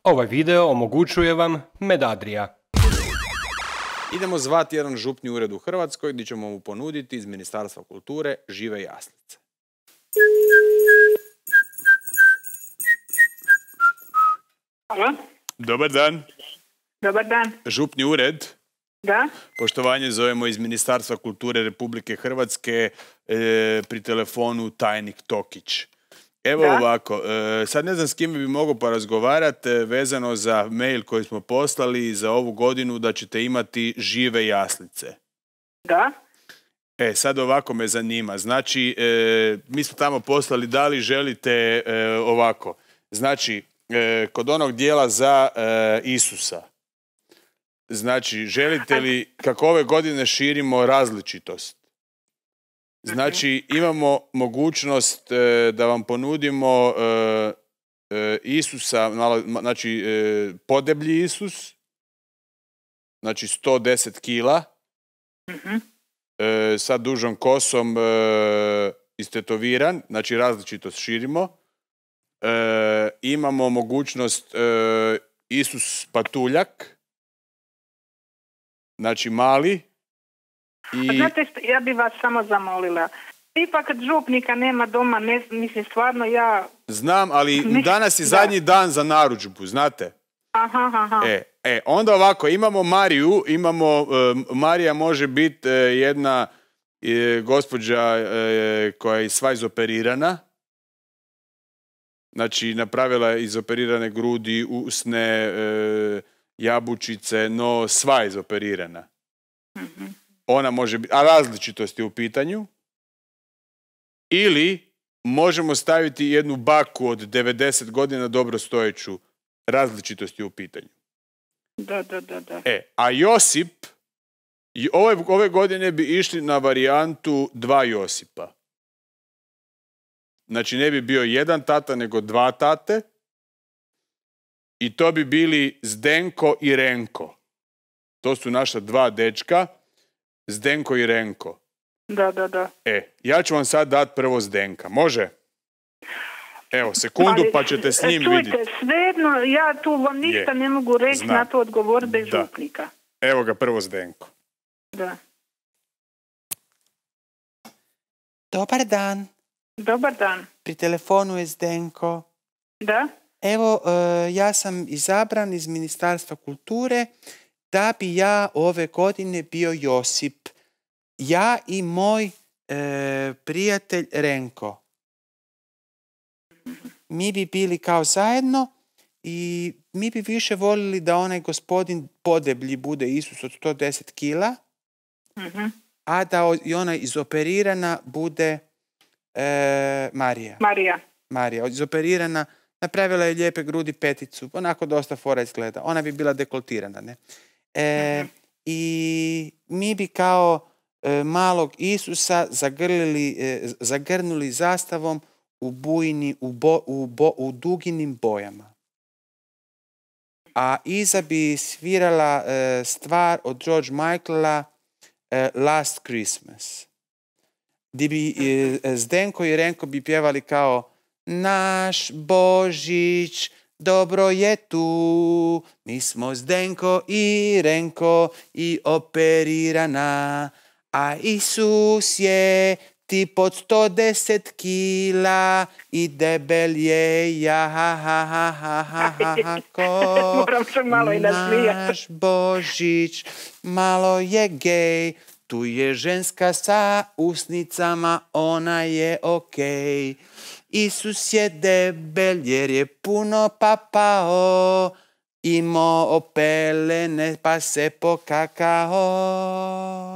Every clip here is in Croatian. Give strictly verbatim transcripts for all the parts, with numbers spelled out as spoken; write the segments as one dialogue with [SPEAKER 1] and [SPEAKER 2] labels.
[SPEAKER 1] Ovaj video omogućuje vam Medadria.
[SPEAKER 2] Idemo zvati jedan župni ured u Hrvatskoj gdje ćemo mu ponuditi iz Ministarstva kulture žive jaslice.
[SPEAKER 3] Halo?
[SPEAKER 2] Dobar dan.
[SPEAKER 3] Dobar dan.
[SPEAKER 2] Župni ured.
[SPEAKER 3] Da?
[SPEAKER 2] Poštovanje, zovemo iz Ministarstva kulture Republike Hrvatske, e, pri telefonu tajnik Tokić. Evo
[SPEAKER 3] da?
[SPEAKER 2] ovako, e, sad ne znam s kime bi mogao porazgovarati e, vezano za mail koji smo poslali za ovu godinu da ćete imati žive jaslice.
[SPEAKER 3] Da?
[SPEAKER 2] E, sad ovako me zanima. Znači, e, mi smo tamo poslali da li želite e, ovako. Znači, e, kod onog dijela za e, Isusa. Znači, želite li, kako ove godine širimo različitost? Znači, imamo mogućnost e, da vam ponudimo e, e, Isusa, malo, znači, e, podeblji Isus, znači sto deset kila,
[SPEAKER 3] Uh-huh.
[SPEAKER 2] e, sa dužom kosom e, istetoviran, znači različitost širimo. E, imamo mogućnost e, Isus patuljak, znači mali. I...
[SPEAKER 3] Znate što, ja bi vas samo zamolila. Ipak kad župnika nema doma, ne, mislim stvarno ja...
[SPEAKER 2] Znam, ali danas je zadnji da. dan za narudžbu, znate?
[SPEAKER 3] Aha, aha.
[SPEAKER 2] E, e, onda ovako, imamo Mariju, imamo, uh, Marija može biti uh, jedna uh, gospođa uh, koja je sva izoperirana. Znači, napravila je izoperirane grudi, usne, uh, jabučice, no sva izoperirana.
[SPEAKER 3] Uh-huh.
[SPEAKER 2] Ona može biti, a različitost je u pitanju. Ili možemo staviti jednu baku od devedeset godina dobro stojeću, različitost je u pitanju.
[SPEAKER 3] Da, da, da, da.
[SPEAKER 2] E, a Josip, ove, ove godine bi išli na varijantu dva Josipa. Znači ne bi bio jedan tata, nego dva tate. I to bi bili Zdenko i Renko. To su naša dva dečka, Zdenko i Renko.
[SPEAKER 3] Da, da, da.
[SPEAKER 2] E, ja ću vam sad dati prvo Zdenka. Može? Evo, sekundu pa ćete s njim vidjeti.
[SPEAKER 3] Čujte, svejedno, ja tu vam ništa
[SPEAKER 2] Je.
[SPEAKER 3] ne mogu reći
[SPEAKER 2] Znam.
[SPEAKER 3] na to odgovor bez
[SPEAKER 2] Da.
[SPEAKER 3] župnika.
[SPEAKER 2] Evo ga prvo Zdenko.
[SPEAKER 3] Da.
[SPEAKER 4] Dobar dan.
[SPEAKER 3] Dobar dan.
[SPEAKER 4] Pri telefonu je Zdenko.
[SPEAKER 3] Da?
[SPEAKER 4] Evo, uh, ja sam izabran iz Ministarstva kulture da bi ja ove godine bio Josip. Ja i moj uh, prijatelj Renko. Mi bi bili kao zajedno i mi bi više volili da onaj gospodin podeblji bude Isus od sto deset kila,
[SPEAKER 3] Uh-huh.
[SPEAKER 4] a da o- i ona izoperirana bude e, Marija.
[SPEAKER 3] Marija.
[SPEAKER 4] Marija, izoperirana, napravila je lijepe grudi, peticu, onako dosta fora izgleda. Ona bi bila dekoltirana, ne? E,
[SPEAKER 3] Mhm.
[SPEAKER 4] I mi bi kao e, malog Isusa zagrlili, e, zagrnuli zastavom u bujni, u, bo, u, bo, u duginim bojama. A iza bi svirala e, stvar od George Michaela e, Last Christmas. Di bi e, Zdenko i Renko bi pjevali kao naš Božić, dobro je tu, mi smo Zdenko i Renko i operirana, a Isus je ti pod sto deset kila i debel je ja ha ha ha ha ha ha ha ko
[SPEAKER 3] Moram se malo i nasmijati.
[SPEAKER 4] naš Božić, malo je gej, tu je ženska sa usnicama, ona je okej. Isus je debel jer je puno papao, imao opelene pa se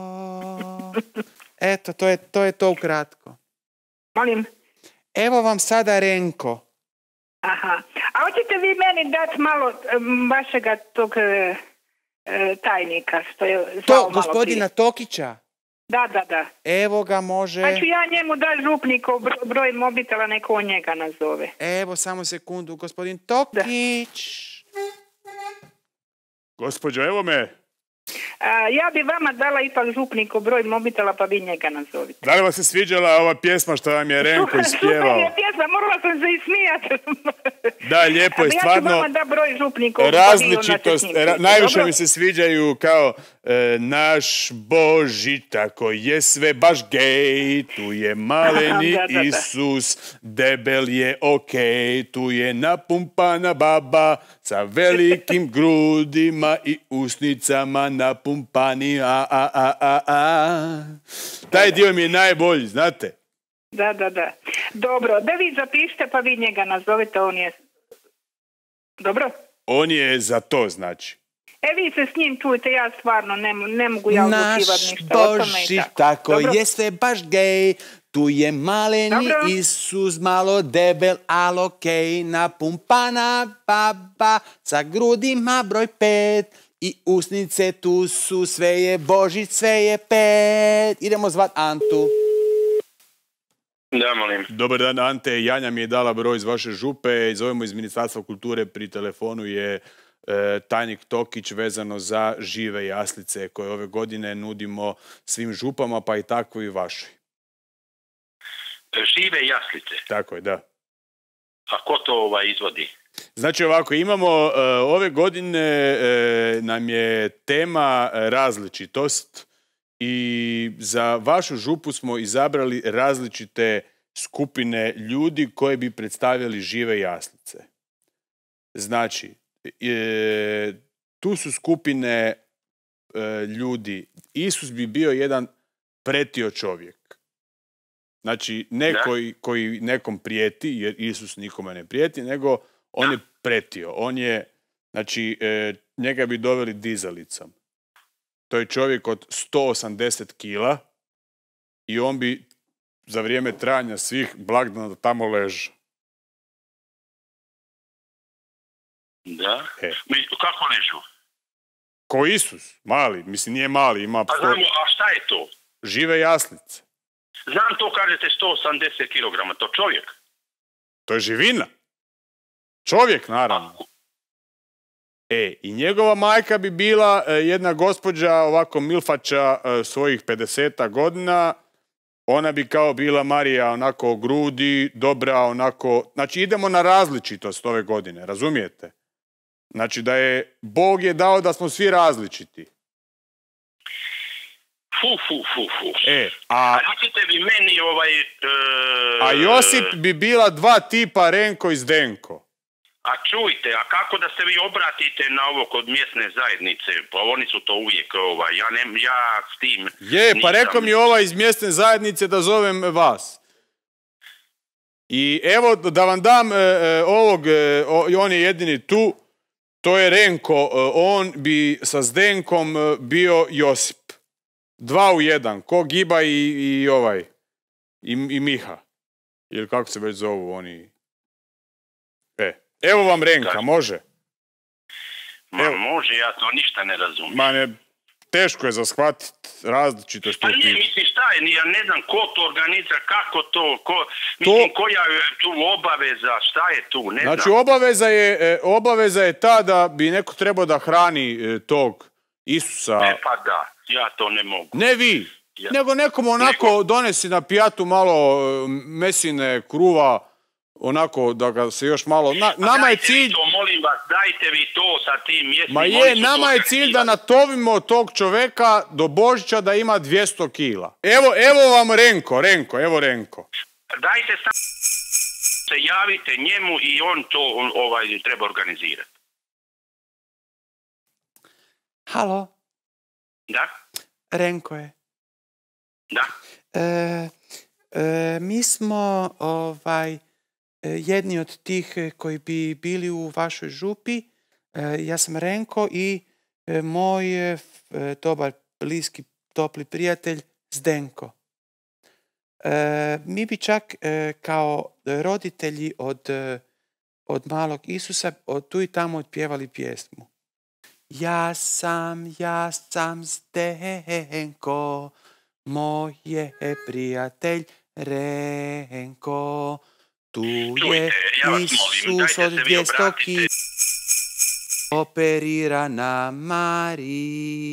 [SPEAKER 4] pokakao. Eto, to je to, je to ukratko.
[SPEAKER 3] Molim.
[SPEAKER 4] Evo vam sada Renko.
[SPEAKER 3] Aha. A hoćete vi meni dati malo em, vašega tog e, e, tajnika što je zvao
[SPEAKER 4] To,
[SPEAKER 3] malo
[SPEAKER 4] gospodina
[SPEAKER 3] prije?
[SPEAKER 4] Tokića.
[SPEAKER 3] Da, da, da.
[SPEAKER 4] Evo ga može.
[SPEAKER 3] Pa ću ja njemu dati župnikov broj, broj mobitela, neko on njega nazove.
[SPEAKER 4] Evo samo sekundu, gospodin Tokić.
[SPEAKER 2] Gospođo, evo me.
[SPEAKER 3] A, ja bi vama dala ipak župniku broj mobitela, pa vi njega nazovite.
[SPEAKER 2] Da li vam se sviđala ova pjesma što vam je Renko ispjevao?
[SPEAKER 3] Super je pjesma, morala sam se ismijati.
[SPEAKER 2] Da, lijepo je,
[SPEAKER 3] Ja ću
[SPEAKER 2] stvarno
[SPEAKER 3] vama da broj župniku.
[SPEAKER 2] različitost. Ra- najviše mi se sviđaju kao e, naš Boži, tako je sve baš gej, tu je maleni
[SPEAKER 3] Da, da, da.
[SPEAKER 2] Isus, debel je okej, tu je napumpana baba sa velikim grudima i usnicama napumpani, a, a, a, a, a. Taj dio mi je najbolji, znate?
[SPEAKER 3] Da, da, da. Dobro, da vi zapišite, pa vi njega nazovite, on je... Dobro?
[SPEAKER 2] On je za to, znači.
[SPEAKER 3] E, vi se s njim čujte, ja stvarno ne, ne mogu ja odlučivati
[SPEAKER 4] Naš
[SPEAKER 3] ništa o tome i
[SPEAKER 4] Boži,
[SPEAKER 3] tako.
[SPEAKER 4] tako
[SPEAKER 3] Dobro?
[SPEAKER 4] je sve baš gej, tu je maleni
[SPEAKER 3] Dobro.
[SPEAKER 4] Isus, malo debel, al okej, napumpana baba, sa grudima broj pet, i usnice tu su, sve je Boži, sve je pet. Idemo zvat Antu.
[SPEAKER 5] Da, molim.
[SPEAKER 2] Dobar dan, Ante. Janja mi je dala broj iz vaše župe. Zovemo iz Ministarstva kulture. Pri telefonu je e, tajnik Tokić vezano za žive jaslice koje ove godine nudimo svim župama, pa i tako i vašoj.
[SPEAKER 5] Žive jaslice.
[SPEAKER 2] Tako je, da.
[SPEAKER 5] A ko to ovaj izvodi?
[SPEAKER 2] Znači ovako, imamo e, ove godine e, nam je tema različitost i za vašu župu smo izabrali različite skupine ljudi koje bi predstavljali žive jaslice. Znači, e, tu su skupine e, ljudi. Isus bi bio jedan pretio čovjek. Znači, ne koji, koji nekom prijeti, jer Isus nikome ne prijeti, nego on je pretio. On je, znači, e, njega bi doveli dizalicom. To je čovjek od sto osamdeset kila i on bi za vrijeme trajanja svih blagdana tamo ležao.
[SPEAKER 5] Da.
[SPEAKER 2] E.
[SPEAKER 5] Mi, kako ležu?
[SPEAKER 2] Ko Isus, mali, mislim nije mali, ima
[SPEAKER 5] A
[SPEAKER 2] sto...
[SPEAKER 5] znamo, a šta je to?
[SPEAKER 2] žive jaslice.
[SPEAKER 5] Znam to, kažete sto osamdeset kilograma, to čovjek.
[SPEAKER 2] To je živina. Čovjek, naravno. E, i njegova majka bi bila e, jedna gospođa, ovako milfača e, svojih pedeseta godina. Ona bi kao bila Marija, onako grudi, dobra, onako... Znači, idemo na različitost ove godine, razumijete? Znači, da je... Bog je dao da smo svi različiti.
[SPEAKER 5] Fu, fu, fu, fu.
[SPEAKER 2] E, a...
[SPEAKER 5] A recite vi meni ovaj... E,
[SPEAKER 2] A Josip bi bila dva tipa, Renko i Zdenko.
[SPEAKER 5] A čujte, a kako da se vi obratite na ovo kod mjesne zajednice? Pa oni su to uvijek, ovaj, ja, ne, ja s tim...
[SPEAKER 2] Je, pa
[SPEAKER 5] nisam-
[SPEAKER 2] rekao mi ovaj iz mjesne zajednice da zovem vas. I evo da vam dam e, e, ovog, e, o, i on je jedini tu, to je Renko, e, on bi sa Zdenkom e, bio Josip. Dva u jedan, ko Giba i, i ovaj, i, i Miha. Ili kako se već zovu oni. E, evo vam Renka,
[SPEAKER 5] Kaži.
[SPEAKER 2] može?
[SPEAKER 5] Ma
[SPEAKER 2] evo.
[SPEAKER 5] može, ja to ništa ne razumijem.
[SPEAKER 2] Ma ne, teško je za shvatiti različitost.
[SPEAKER 5] Pa
[SPEAKER 2] u
[SPEAKER 5] ne,
[SPEAKER 2] pitanju.
[SPEAKER 5] mislim, šta je, ja ne znam ko to organizira, kako to, ko, mislim, koja je tu obaveza, šta je tu, ne
[SPEAKER 2] Znači,
[SPEAKER 5] znam.
[SPEAKER 2] obaveza je, e, obaveza je ta da bi neko trebao da hrani e, tog Isusa.
[SPEAKER 5] E pa da, ja to ne mogu.
[SPEAKER 2] Ne vi,
[SPEAKER 5] Ja.
[SPEAKER 2] nego nekom onako
[SPEAKER 5] Nego-
[SPEAKER 2] donesi na pijatu malo e, mesine, kruva, onako da ga se još malo... Na, nama je
[SPEAKER 5] Dajte vi
[SPEAKER 2] cilj...
[SPEAKER 5] to, molim vas, dajte vi to sa tim mjesnim...
[SPEAKER 2] Ma
[SPEAKER 5] oni
[SPEAKER 2] je,
[SPEAKER 5] su
[SPEAKER 2] nama
[SPEAKER 5] to
[SPEAKER 2] je cilj da
[SPEAKER 5] organizirali.
[SPEAKER 2] natovimo tog čoveka do Božića da ima dvjesto kila. Evo, evo vam Renko, Renko, evo Renko.
[SPEAKER 5] Dajte sam se javite njemu i on to on, ovaj treba organizirati.
[SPEAKER 4] Halo,
[SPEAKER 5] Da?
[SPEAKER 4] Renko je.
[SPEAKER 5] Da?
[SPEAKER 4] E, e, mi smo ovaj e, jedni od tih e, koji bi bili u vašoj župi. E, ja sam Renko i e, moj e, f- e, dobar, bliski, topli prijatelj Zdenko. E, mi bi čak e, kao roditelji od, e, od malog Isusa od tu i tamo otpjevali pjesmu. Ja sam, ja sam Zdenko, moj je prijatelj Renko, tu je
[SPEAKER 5] Čujte, ja vas molim,
[SPEAKER 4] Isus
[SPEAKER 5] dajte
[SPEAKER 4] od
[SPEAKER 5] se vi
[SPEAKER 4] dvjesto
[SPEAKER 5] obratite.
[SPEAKER 4] kila. operirana Marija,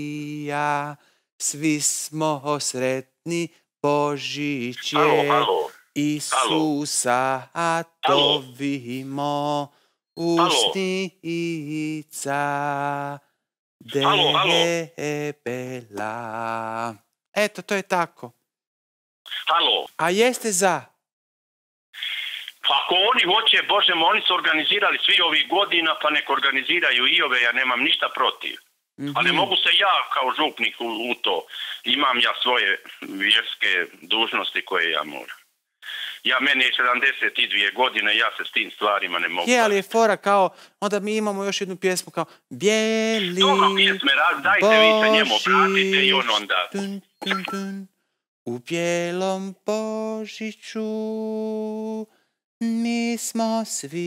[SPEAKER 4] svi smo sretni, Božić
[SPEAKER 5] Halo,
[SPEAKER 4] je,
[SPEAKER 5] halo.
[SPEAKER 4] Isusa tovimo, usnica
[SPEAKER 5] Halo, halo.
[SPEAKER 4] debela. Eto, to je tako.
[SPEAKER 5] Halo.
[SPEAKER 4] A jeste za?
[SPEAKER 5] Pa ako oni hoće, Bože mo, oni su organizirali svi ovih godina, pa nek organiziraju i ove, ja nemam ništa protiv.
[SPEAKER 4] Mhm.
[SPEAKER 5] Ali mogu se ja kao župnik u, u to. Imam ja svoje vjerske dužnosti koje ja moram. Ja, meni je sedamdeset dvije godine, ja se s tim stvarima ne mogu.
[SPEAKER 4] Je, ali je fora kao, onda mi imamo još jednu pjesmu kao Bijeli
[SPEAKER 5] Dobro, pjesme, raz- dajte vi se njemu obratite i on onda.
[SPEAKER 4] Dun, dun, dun. U bijelom Božiću mi smo svi.